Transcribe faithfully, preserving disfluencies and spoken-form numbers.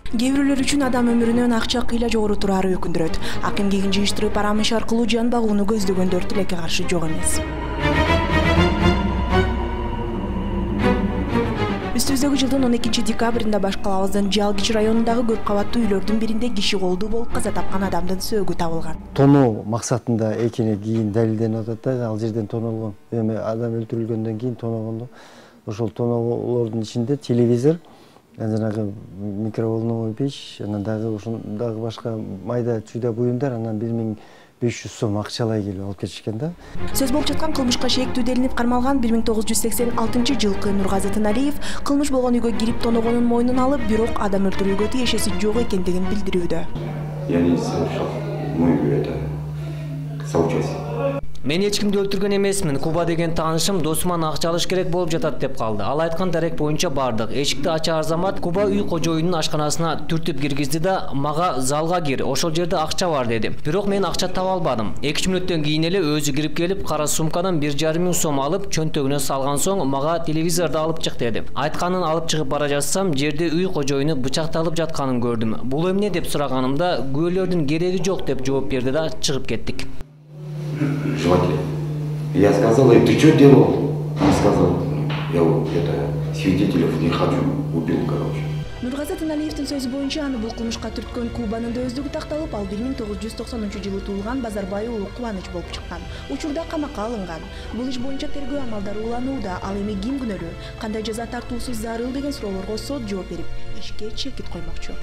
Кээ бирөөлөр үчүн адам өмүрүнөн акча кыйла жогору турары өкүндүрөт. Акын кегин жыйыштырып арам иш аркылуу жан багууну көздөгөндөр тилекке каршы жок эмес. Үстүбүздөгү жылдын он экинчи декабрында Баш калабыздын Жалгич районундагы көп кабаттуу үйлөрдүн биринде киши колдуу болуп каза тапкан адамдын сөөгү табылган. Тоноо максатында экени кийин далилденип атат да, ал жерден тоноолгон. Эми адам өлтүрүлгөндөн кийин тоноогондо ошол тоноолордун ичинде телевизор, жанагы микроволновой печь, анан дагы ошондагы башка майда чүйдө буюмдар, анан бир миң беш жүз сом акчалай келип алып кетишкен да. Сөз болуп жаткан кылмышка шээктүү делинип кармалган бир миң тогуз жүз сексен алтынчы жылкы Нургазы Тыналиев кылмыш болгон үйгө кирип тоногонун мойнуна алып, бирок адам өлтүрүүгө тиешеси жок экендигин билдирүүдө. Я не совершал, мы это соучастие. Мен эч кимди өлтүргөн эмесмин. Куба деген таанышым досуман акча алыш керек болуп жатат деп калды. Ал айткан дарек боюнча бардык. Эшикти ачаар замат Куба үй кожоюнунун ашканасына түртүп киргизди да, мага залга кир, ошол жерде акча бар деди. Бирок мен акча таба албадым. эки үч мүнөттөн кийин эле өзү кирип келип, кара сумкадан бир жарым миң сом алып, чөнтөгүнө салган соң мага телевизорду алып чык деди. Айтканын алып чыгып бара жатсам, жерде үй кожоюну бычакталып жатканын көрдүм. Бул эмне деп сураганымда, күбөлөрдүн кереги жок деп жооп берди да чыгып кеттик. Желатель. Я сказал, ты что делал? Он сказал, я это свидетелей не хочу, убил, короче. Нургазы Тыналиевдин сөзү боюнча аны бул кылмышка түрткөн Кубанын да өздүгү такталып, ал бир миң тогуз жүз токсонунчу жылы туулган Базарбай уулу Кубаныч болуп чыккан. Учурда камакка алынган. Бул иш боюнча тергөө амалдары уланууда. Ал эми ким күнөөлүү, кандай жаза тартуусу зарыл деген суроолорго сот жооп берип, ишке чекит коймокчу.